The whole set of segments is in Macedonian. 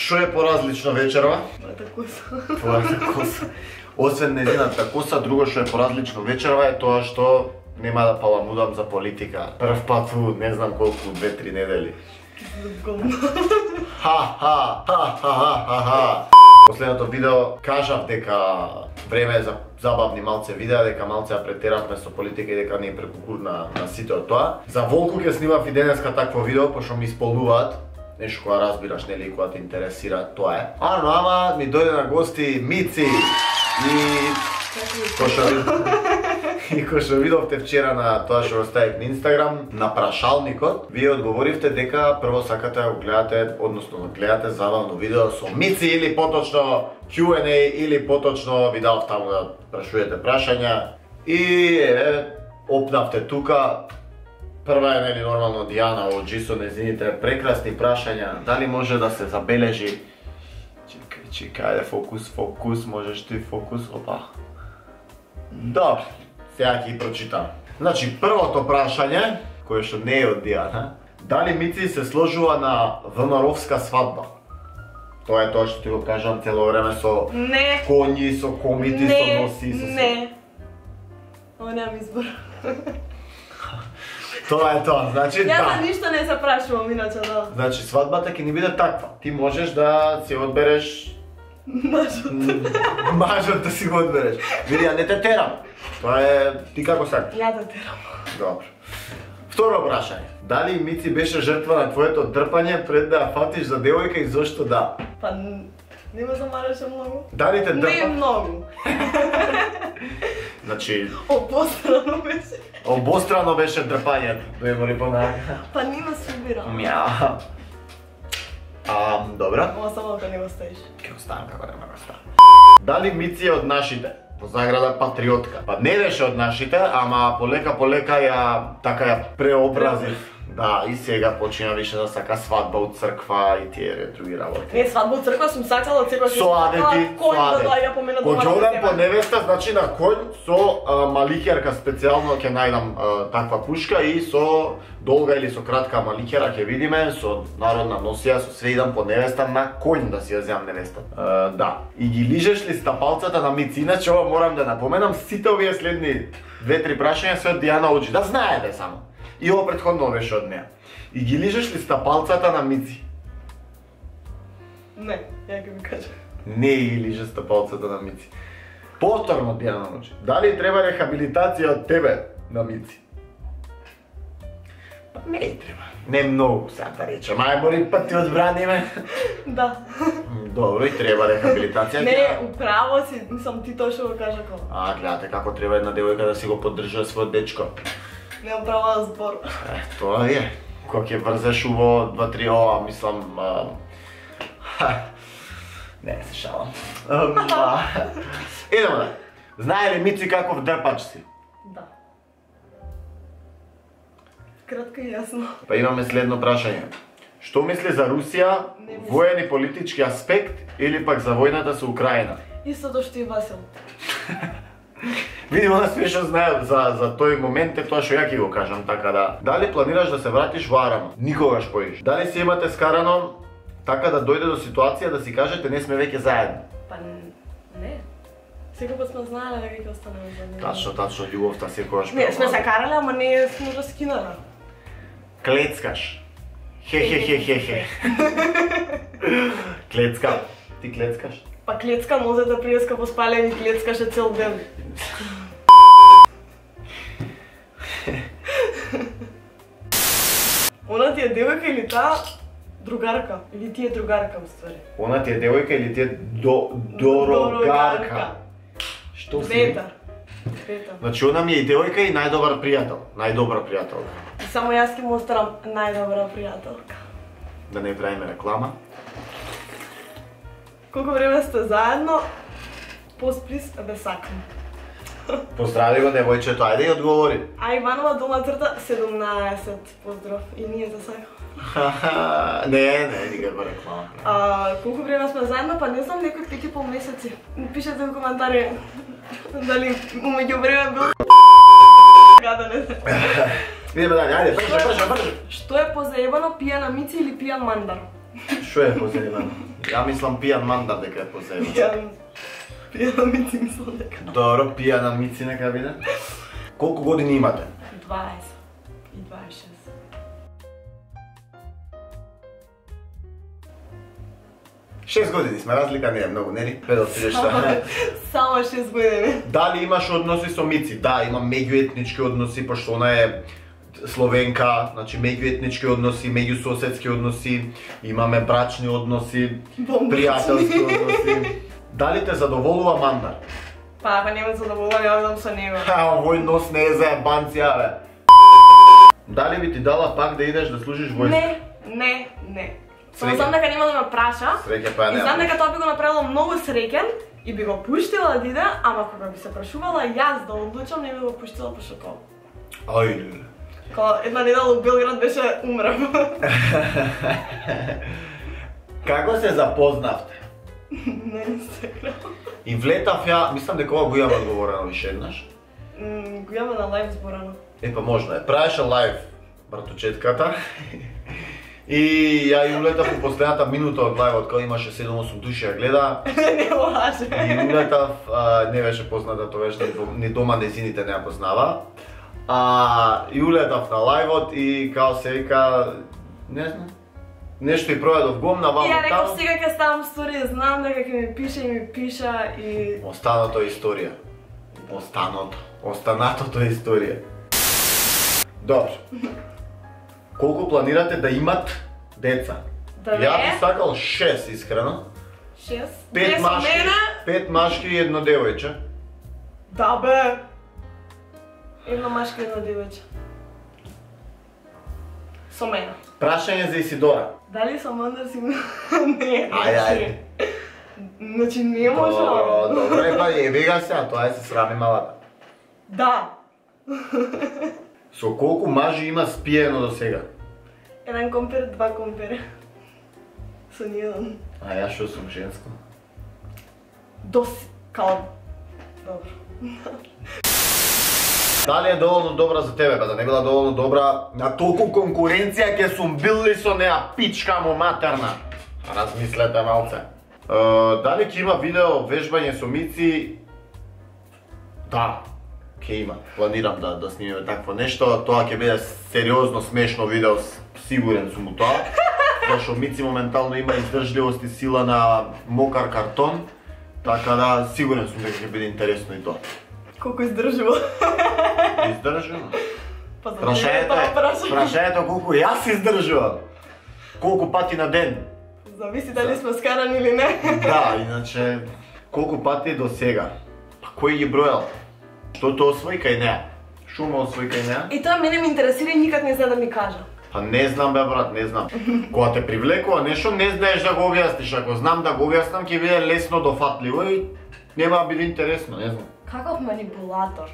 Што е поразлично вечерва? Мојата коса. Твојата коса. Освен незината коса, друго што е поразлично вечерва е тоа што нема да паламудам за политика. Прв пат у не знам колку, 2-3 недели. Ха. Последното видео кажав дека време е за забавни малце видеа, дека малце ја претеравме со политика и дека не е прекукур на сите од тоа. За Волку ќе снимав и денеска такво видео, пошто ми исполнуваат нешто кога разбираш, нели, кога те интересира, тоа е. Ама ми дојде на гости Мици и кој што видовте вчера на тоа што оставив на Инстаграм, на прашалникот, вие одговоривте дека прво сакате да го гледате, односно да гледате забавно видео со Мици или поточно Q&A или поточно ви дав таму да прашувате прашања и опнавте тука. Прва е, нели, нормално Дијана Оджи со незините прекрасни прашања. Дали може да се забележи? Чекај, ајде, фокус, можеш ти фокус, опа. Добре, сега ќе ги прочитам. Значи, првото прашање, кое што не е од Дијана, дали Мици се сложува на ВМРО-вска свадба? Тоа е тоа што ти го кажам цело време со коњи, со комити, со носи, со... Не. Ова немам избор. Тоа е тоа, значи да. Јас ништо не се прашувам, иначе да. Значи, свадбата ќе ни биде таква. Ти можеш да си одбереш... Мажот да си го одбереш. Види, ја не те терам. Тоа е... Ти како сакаш? Ја те терам. Добро. Второ прашање. Дали Мици беше жртва на твоето дрпање пред да ја фатиш за девојка и зошто да? Па... Не ме замараше многу. Дали те дрпа? Не многу. Значи... Обострано беше. Обострано беше дрпањето. Дојмори понака. Па не ме субира. Мја. Добра. Ова само да не го ставиш. Ке го ставам како нема го ставам. Дали Мици е од нашите? По заграда патриотка. Па не беше од нашите, ама полека ја така ја преобразив. Да, и сега почина више да сака свадба у црква и тие други работи. Не, свадба у црква сум сакала, од секојаш со адети, кој да доаѓа по мене дома. Кога одам по невеста, значи на конј со малихерка специјално ќе најдам таква пушка и со долга или со кратка малихера ќе видиме, со народна носија, со све идам по невеста на конј да си ја земам невеста. Да. И ги лижеш ли стапалцата на Мици? Иначе ова морам да напоменам, сите овие следни 2-3 прашања се од Дијана Оджи. Да знаете само. И ова претходно беше од неа. И ги лижеш ли стапалцата на Мици? Не, ја ќе ми кажа. Не ги лижеш стапалцата на Мици. Повторно, Дијана Оджи. Дали треба рехабилитација од тебе на Мици? Па не треба. Не многу, сега да речем. Ајбори пат ти одбраниме. Да. Добро, и треба рехабилитација. Не, управо си, мислам ти тоа што го кажа кога. Гледате како треба една девојка да си го поддржа својот дечко. Не управа збор. Тоа е. Кога ќе врзеш уво 2-3 ова, мислам... Не, се шалам. Идемо да. Знае ли Мици каков дрпач си? Да. Кратко и јасно. Па имаме следно прашање. Што мисли за Русија, воен и политички аспект или пак за војната со Украина? Истото што и Васил. Види, она све што знае за тој момент е тоа што ја ќе го кажам, така да. Дали планираш да се вратиш во Арама? Никогаш поиш. Дали си имате скарано така да дојде до ситуација да си кажете не сме веќе заедно? Па не. Секој пат сме знаеле дека ќе останеме заедно. Тачно, љубовта секогаш. Не, сме се карале, ама не сме раскинале. Клецкаш. Хе. Клецка. Ти клецкаш? Па клецка може да приеска по спалени, клецкаше цел ден. Она ти е девојка или таа другарка? Или ти е другарка, уствари? Она ти е девојка или ти е дорогарка? Што си? Двета. Значи, она ми е и девојка и најдобар пријател. Најдобра пријателка. И само јас ќе му оставам најдобра пријателка. Да не правиме реклама. Колку време сте заедно? Посплис, бе сакам. Поздрави го девојчето, ајде и одговори. А Иванова долна црта 17, поздрав. И ние те сакам. Не, никаква реклама. Колку време сме заедно, па не знам, некои 5,5 месеци. Пишете во коментари дали умеѓу време бил гадане. Идеме дале, ајде, брže. Што е позаебано, пијана Мици или пијан Мандар? Што е позајбано? Ја мислам пијан мандар дека е позајбано. Пијана Мици мислам дека. Добро, пијана Мици нека биде. Колку години имате? 20 и 26. Шест години сме, разлика не е многу, нели? Само 6 години. Дали имаш односи со Мици? Да, имам меѓуетнички односи, пошто она е словенка, значи меѓуетнички односи, меѓусоседски односи, имаме брачни односи, пријателски односи. Дали те задоволува мандар? Па, ако не ме задоволува, ја одам со него. Овој нос не е за ебанција, бе. Дали би ти дала пак да идеш да служиш војска? Не. Само знам дека нема да ме праша. Среќа па и знам дека тоа би го направило многу среќен и би го пуштила да иде, ама кога би се прашувала јас да одлучам, не би го пуштила пошто кол. Ајде. Кога една недела у Белград беше умрав. Како се запознавте? На Инстаграм. И влетав ја, мислам дека ова го имам одговорено више еднаш. Го имаме на лайв зборано. Па можно е. Правеше лайв братучетката. И ја и улетав у последната минута од лајвот, кога имаше 7-8 души ја гледа. Не лаже. И улетав, не беше позната, тоа беше ни дома незините не ја познава. И улетав на лајвот и као се вика, не знам, нешто и проведов гомна, вамо ја реков сега ќе ставам стори, знам дека ќе ми пише и ми пиша и... Останато е историја. Останатото е историја. Добро. Колку планирате да имат деца? Ја би сакал 6, искрено. 6? 5 машки и едно девојче. Да бе! Едно машки и едно девојче. Со мене. Прашање за Исидора. Дали со мандар си... Не, Ајде. Значи не може. Добро, па ебега се, тоа е се срами малата. Да. Со колку мажи има спиено до сега? 1 компер, 2 компер. Со ниједен. А ја што сум женско? Као... Добро. Дали е доволно добра за тебе, да не била доволно добра, на толку конкуренција ќе сум бил ли со неа пичка му матерна? Размислете малце. Дали ќе има видео вежбање со Мици? Да, ќе има. Планирам да снимиме такво нешто. Тоа ќе биде сериозно смешно видео, сигурен сум у тоа. Зашто Мици моментално има издржливост и сила на мокар картон. Така да, сигурен сум дека ќе биде интересно и тоа. Колку издржува? Издржува? Прашањето Прашањето колку јас издржувам. Колку пати на ден. Зависи дали сме скарани или не. Да, иначе колку пати до сега. Па кој ги бројал? Што тоа освои кај неа? Шо ме освои кај неа? И тоа мене ме интересира и никак не знае да ми кажа. Па не знам бе брат, не знам. Кога те привлекува нешто, не знаеш да го објасниш. Ако знам да го објаснам, ќе биде лесно дофатливо и нема да биде интересно, не знам. Каков манипулатор?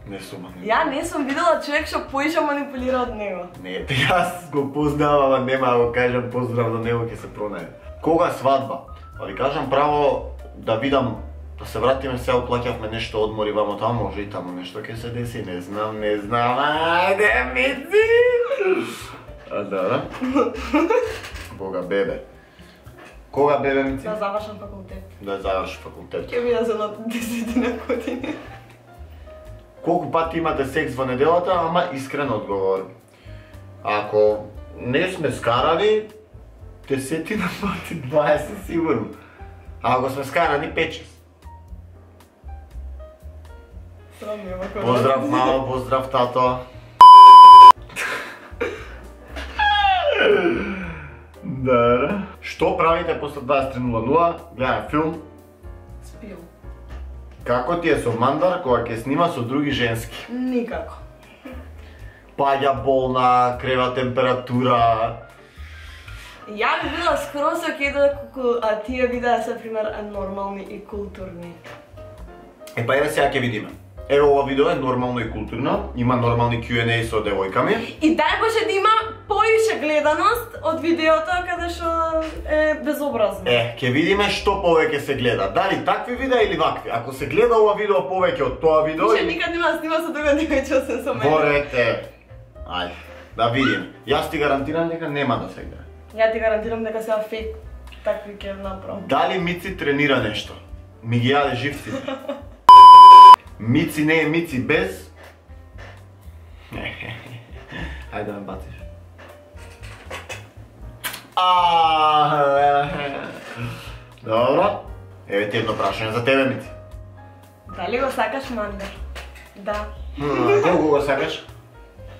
Не сум манипулатор. Ја не сум видела човек што поише манипулира од него. Не, јас го познавам, а нема да го кажам поздрав до него, ќе се пронајде. Кога свадба? Па ви кажам право да видам, да се вратиме, сега оплаќавме нешто одмори вамо таму, може и таму нешто ќе се деси, не знам, ајде Мици! Да. Бога бебе. Кога бебе Мици? Да завршам факултет. Да заврши факултет. Ќе биде за на 10 години. Колку пати имате секс во неделата, ама искрен одговор. Ако не сме скарани, 10 пати, 20 сигурно. А ако сме скарани, 5-6. Поздрав мама, поздрав тато. Да. Што правите после 23:00? Гледаме филм. Спијам. Како ти е со мандар кога ќе снима со други женски? Никако. Паѓа болна, крева температура. Ја би била скроз окей а тие видеа се пример нормални и културни. Па еве сега ќе видиме. Еве ова видео е нормално и културно, има нормални Q&A со девојками. И дај Боже да има поише гледаност од видеото каде што е безобразно. Ќе видиме што повеќе се гледа. Дали такви видеа или вакви? Ако се гледа ова видео повеќе од тоа видео... Више никад нема да снима со друга девојче освен со мене. Борете. Ајде, да видиме. Јас ти гарантирам дека нема да се гледа. Ја ти гарантирам дека сега фейк такви ќе направам. Дали Мици тренира нешто? Ми ги јаде живци. Мици не е Мици без... Ајде да ме бациш. Добро. Еве ти едно прашање за тебе, Мици. Дали го сакаш мандер? Да. Колку го сакаш?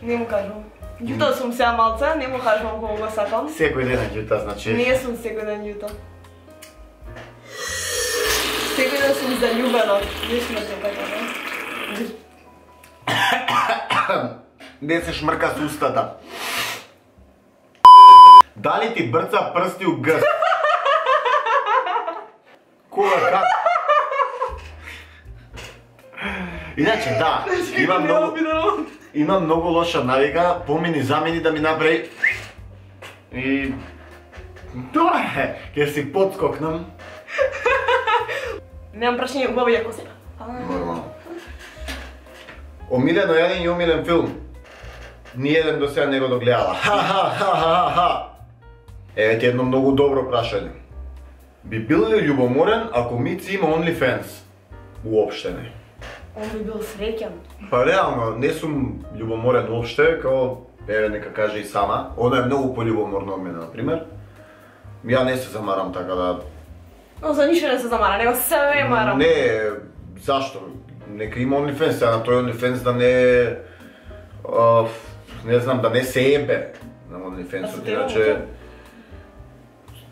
Не му кажувам. Љута сум сега малце, не му кажувам колку го сакам. Секој ден е љута, значи... Не сум секој ден љута. Секој ден сум заљубена. Не сме се така, да? Не се шмрка с устата. Дали ти брца прсти у грст? Кога, как? Иначе, да, имам многу лоша навика, помини замени да ми направи и... Тоа е, ќе си подскокнам. Немам прашање, убаво ја коса. Нормално. Омилено јадење и омилен филм. Ниједен до сега не го догледала. Ха. Еве ти едно многу добро прашање. Би бил ли љубоморен ако Мици има OnlyFans? Уопште не. Он би бил среќен. Па реално, не сум љубоморен уопште, као, еве нека каже и сама. Она е многу пољубоморна од мене, например. Ја не се замарам така да... Но за ништо не се замара, него се марам. Не, зашто? Нека има OnlyFans, сега на тој OnlyFans да не... не знам, да не се ебе на OnlyFans-от, иначе...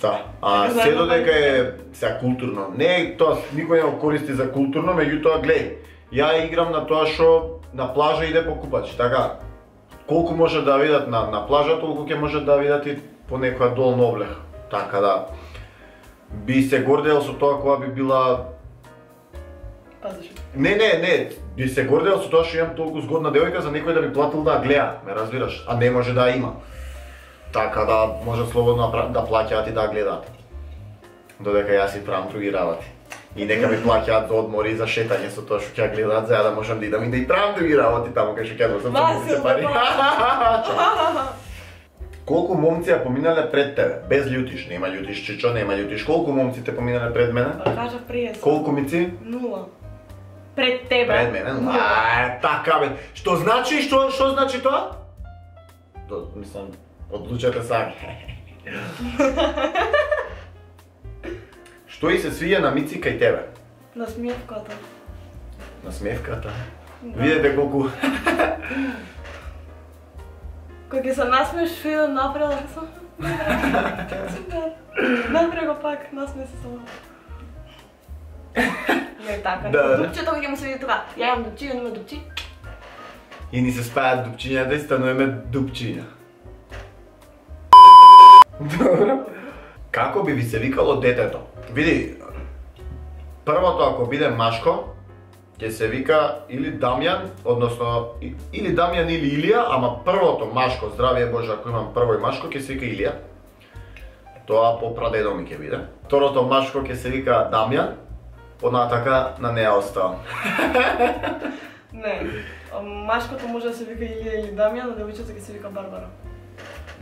Да, а се додека е сега културно. Не, тоа никој не го користи за културно, меѓутоа глеј, ја играм на тоа што на плажа иде покупач, така. Колку може да видат на плажа, толку ќе може да видат и по некоја долна облега. Така да би се гордел со тоа кога би била... Пазиш. Не, би се гордел со тоа што имам толку згодна девојка за некој да би платил да гледа, ме разбираш, а не може да има. Така да може слободно да плаќаат и да гледаат. Додека јас си правам други работи. И нека ми плаќаат за одмори и за шетање со тоа што ќе гледаат, за да можам да идам и да и правам други работи таму кај што ќе носам се пари. Колку момци ја поминале пред тебе? Без љутиш, нема љутиш, чичо, нема љутиш. Колку момци те поминале пред мене? Кажав прие. Колку Мици? 0. Пред тебе. Пред мене? Така бе. Што значи? Што значи тоа? Мислам, одлучете сами. Што и се свиѓа на Мици кај тебе? Насмевката. Насмевката? Да. Видете колку... Кој ќе се насмеш, што идам напред, сум... Напред го пак, насме се само. Не така, дупчето кој ќе му се види тука. Ја имам дупчи, ја нема дупчи. И ни се спајат дупчињата и стануваме дупчиња. Добро. Како би ви се викало детето? Види, првото ако биде машко, ќе се вика или Дамјан, односно или Дамјан или Илија, ама првото машко, здравие Боже, ако имам прво и машко, ќе се вика Илија. Тоа по прадедо ми ќе биде. Второто машко ќе се вика Дамјан, понатака на неа оставам. Не, машкото може да се вика Илија или Дамјан, а девојчето ќе се вика Барбара.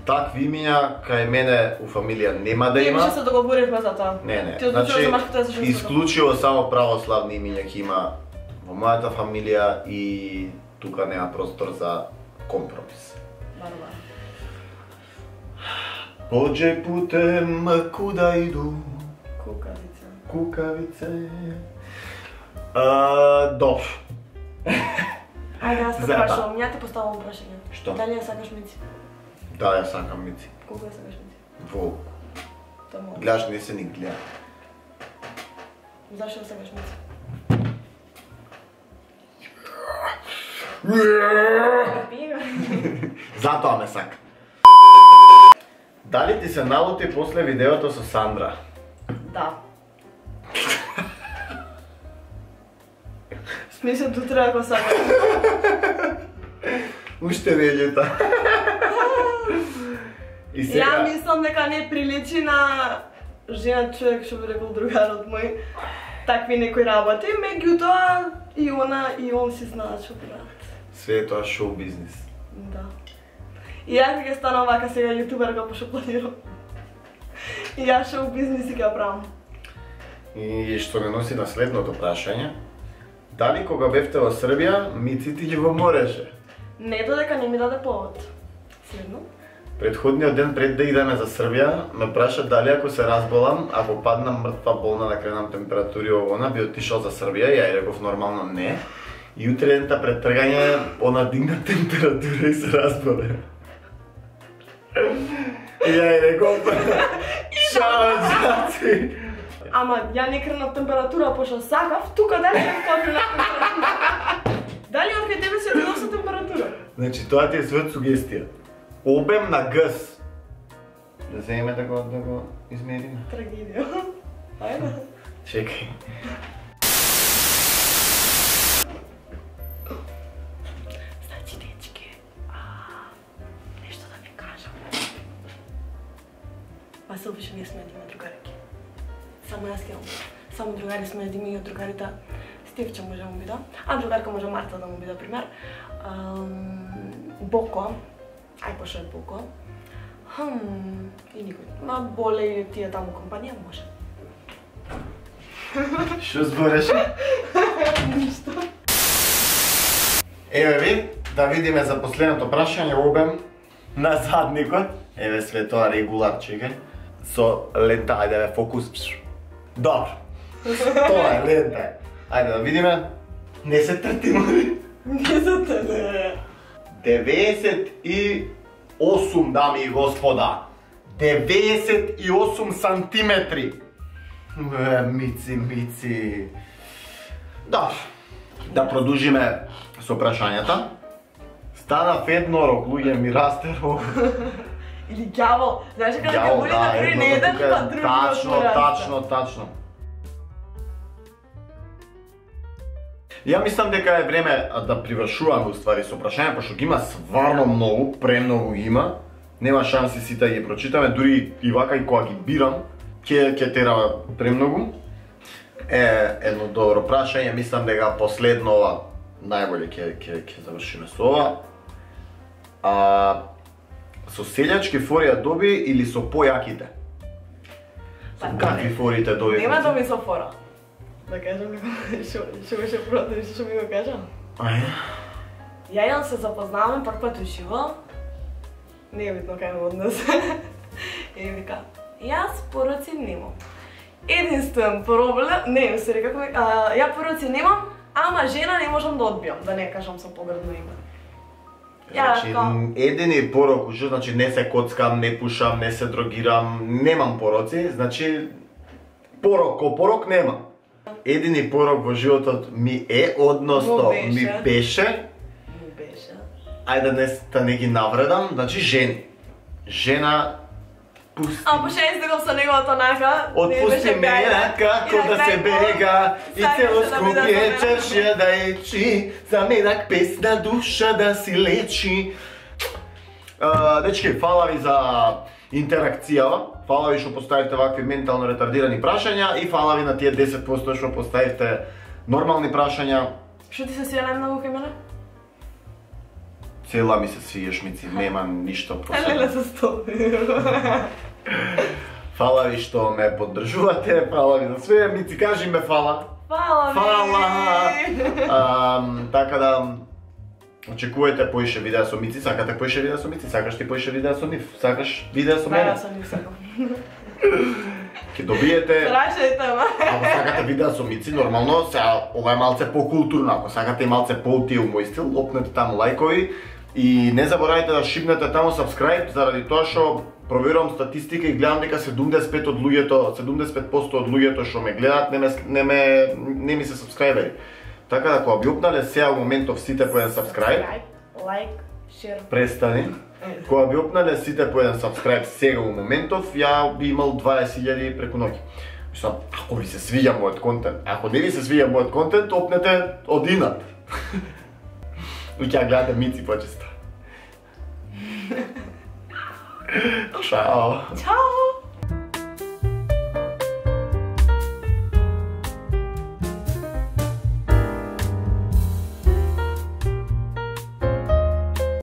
Такви имиња кај мене у фамилија нема да има. Ние више се договоривме за тоа. Не, Ти одлучуваш за машкото и за женското. исклучиво само православни имиња ќе има во мојата фамилија и тука нема простор за компромис. Барбара. Поđe putem kuda idu Кукавица. kukavice. Добро. Ајде, јас те Зепа. прашувам, ја те поставам прашање. Што? Дали ја сакаш Мици? Да, ја сакам Мици. Колку ја сакаш Мици? Волку. Тоа мога. Гледаш, не се ни гледа. Зашто ја сакаш Мици? Затоа ме сака. Дали ти се налути после видеото со Сандра? Да. Смислам, ту треба да сакаш. Уште не е љута. И сега... Ја мислам дека не приличи на жена човек, што би рекол другарот мој, такви некои работи, меѓутоа и она и он си знаат што прават. Све е тоа шоу бизнис. Да. И ја ќе станам вака сега јутуберка, пошто планирам. И јас шоу бизнес и ќе правам. И што ме носи на следното прашање. Дали кога бевте во Србија, Мици ти го мореше? Не додека не ми даде повод. Следно. Предходниот ден пред да идеме за Србија, ме праша дали ако се разболам, ако паднам мртва болна да кренам температури овона, би отишол за Србија, ја реков нормално не. И утре дента пред тргање, она дигна температура и се разболе. И ја реков, шао, джаци. Ама ја не кренав температура, пошто сакав, тука дали не кренав температура. Дали од кај тебе се доноси температура? Значи, тоа ти е свет сугестија. Обем на гъс. Да земеме да го измериме. Трагедија. Ајде. Чекај. Значи, дечки, нешто да ви кажам. Васил више не сме да има другарки. Само јас ќе имам. Само другари сме да има и од другарите Стевче може да му биде, а другарка може Марта да му биде пример. Боко, ај пошто е Боко. И никој. Ма боле и тие таму компанија може. Што збореше? Ништо. Еве ви, да видиме за последното прашање обем на задникот. Еве све тоа регулар, чекај. Со лента, ајде бе, фокус. Добро. Тоа е лента. Ајде да видиме. Не се тртимо. Не се тртимо. 98, дами и господа. 98 сантиметри. Мици. Добро. Да продолжиме со прашањата. Станав еднорог, луѓе ми расте рог. Или ѓавол. Знаеш како ѓаволите дури не еден па други Тачно. Ја мислам дека е време да привршуваме уствари со прашања, пошто ги има стварно многу, премногу има. Нема шанси сите да ги прочитаме, дури и вака и кога ги бирам, ќе тера премногу. Едно добро прашање, мислам дека последно ова најболе ќе завршиме со ова. Со селјачки фори ја доби или со појаките? Со какви форите доби? Нема доби со фора. Да кажам што беше првото нешто што ми го кажа. Ајде. Ја и он се запознаваме прв пат уживо. Не е битно кај однос. И вика, јас пороци немам. Единствен проблем, не, се река како ја пороци немам, ама жена не можам да одбијам, да не кажам со погрдно име. Значи, едини порок ужо, значи не се коцкам, не пушам, не се дрогирам, немам пороци, значи порок немам. Едини порок во животот ми е, односно ми беше. Ајде да не ги навредам, значи жени. Жена пусти. А пошај да го со неговото нака. Отпусти ме како да се бега и цело Скопје чаршија да ечи, за медак песна душа да си лечи. Дечки, фала ви за интеракцијава. Фала ви што поставивте вакви ментално ретардирани прашања и фала ви на тие 10% што поставивте нормални прашања. Што ти се свија најмногу кај мене? Цела ми се свиеш, Мици, нема ништо посебно. Леле се столи. Фала ви што ме поддржувате, фала ви за све, Мици, кажи ме фала. Фала ви. Така да очекувате поише видеа со Мици, сакате поише видеа со Мици, сакаш ти поише видеа со нив, сакаш видеа со мене? Да, со нив сакам. Ке добиете... Прашајте ме. Ако сакате видеа со Мици, нормално, сега ова е малце по-културно, ако сакате малце по-тиел мој стил, лопнете таму лајкови и не заборавајте да шипнете таму subscribe, заради тоа што проверувам статистика и гледам дека 75% од луѓето што ме гледаат не ми се сабскрајбери. Така да кога би опнале сега во моментов сите по еден subscribe, лайк, шер. Престани. Кога би опнале сите по еден subscribe сега во моментов, ја би имал 20.000 преку ноќ. Мислам, ако ви се свиѓа мојот контент, ако не ви се свиѓа мојот контент, опнете одинат. И ќе гледате Мици почесто. Чао. Чао.